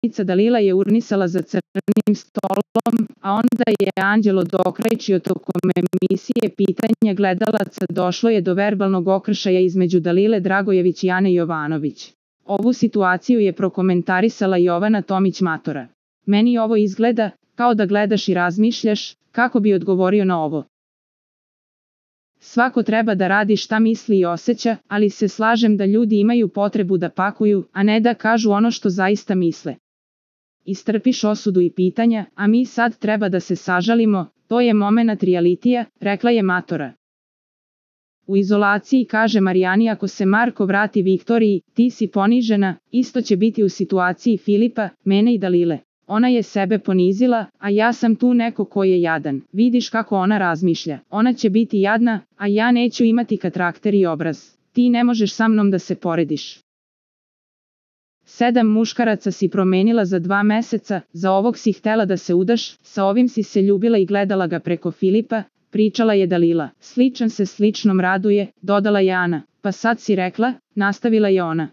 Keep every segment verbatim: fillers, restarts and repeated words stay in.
poslanica Dalila je urnisala za crnim stolom, a onda je Anđelo dokrajčio tokom emisije pitanja gledalaca. Došlo je do verbalnog okršaja između Dalile Dragojević i Ane Jovanović. Ovu situaciju je prokomentarisala Jovana Tomić Matora. Meni ovo izgleda kao da gledaš i razmišljaš kako bi odgovorio na ovo. Svako treba da radi šta misli i osjeća, ali se slažem da ljudi imaju potrebu da pakuju, a ne da kažu ono što zaista misle. Istrpiš osudu i pitanja, a mi sad treba da se sažalimo, to je momenat realitija, rekla je Matora. U izolaciji kaže Marijani ako se Marko vrati Viktoriji, ti si ponižena, isto će biti u situaciji Filipa, mene i Dalile. Ona je sebe ponizila, a ja sam tu neko ko je jadan. Vidiš kako ona razmišlja. Ona će biti jadna, a ja neću imati karakter i obraz. Ti ne možeš sa mnom da se porediš. Sedam muškaraca si promenila za dva meseca, za ovog si htela da se udaš, sa ovim si se ljubila i gledala ga preko Filipa, pričala je Dalila. Sličan se sličnom raduje, dodala je Ana. Pa sad si rekla, nastavila je ona.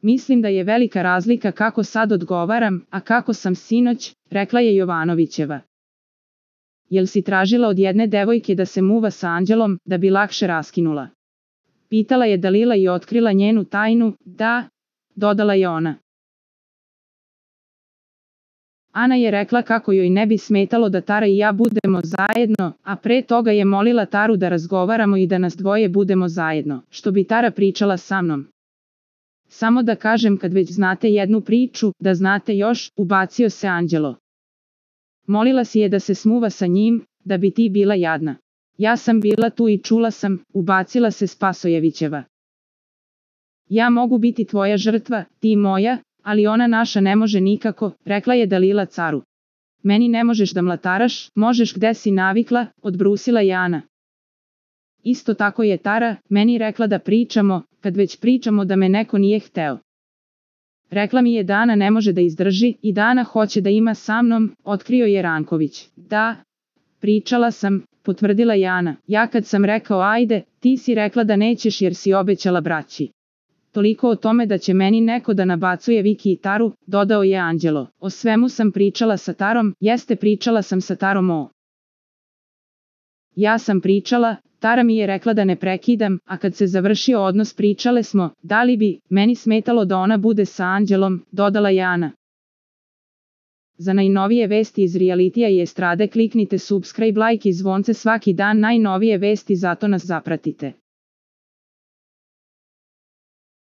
Mislim da je velika razlika kako sad odgovaram, a kako sam sinoć, rekla je Jovanovićeva. Jel si tražila od jedne devojke da se muva sa Anđelom, da bi lakše raskinula? Pitala je Dalila i otkrila njenu tajnu, da, dodala je ona. Ana je rekla kako joj ne bi smetalo da Tara i ja budemo zajedno, a pre toga je molila Taru da razgovaramo i da nas dvoje budemo zajedno, što bi Tara pričala sa mnom. Samo da kažem kad već znate jednu priču, da znate još, ubacio se Anđelo. Molila si je da se smuva sa njim, da bi ti bila jadna. Ja sam bila tu i čula sam, ubacila se Spasojevićeva. Ja mogu biti tvoja žrtva, ti moja, ali ona naša ne može nikako, rekla je Dalila caru. Meni ne možeš da mlataraš, možeš gde si navikla, odbrusila je Ana. Isto tako je Tara meni rekla da pričamo, kad već pričamo da me neko nije hteo. Rekla mi je da Ana ne može da izdrži i da Ana hoće da ima sa mnom, otkrio je Ranković. Da, pričala sam, potvrdila je Ana. Ja kad sam rekao ajde, ti si rekla da nećeš jer si obećala braći. Toliko o tome da će meni neko da nabacuje Viki i Taru, dodao je Anđelo. O svemu sam pričala sa Tarom, jeste pričala sam sa Tarom o. Ja sam pričala, Tara mi je rekla da ne prekidam, a kad se završio odnos pričale smo, da li bi meni smetalo da ona bude sa Anđelom, dodala je Ana. Za najnovije vesti iz realitija i estrade kliknite subscribe, like i zvonce svaki dan, najnovije vesti, zato nas zapratite.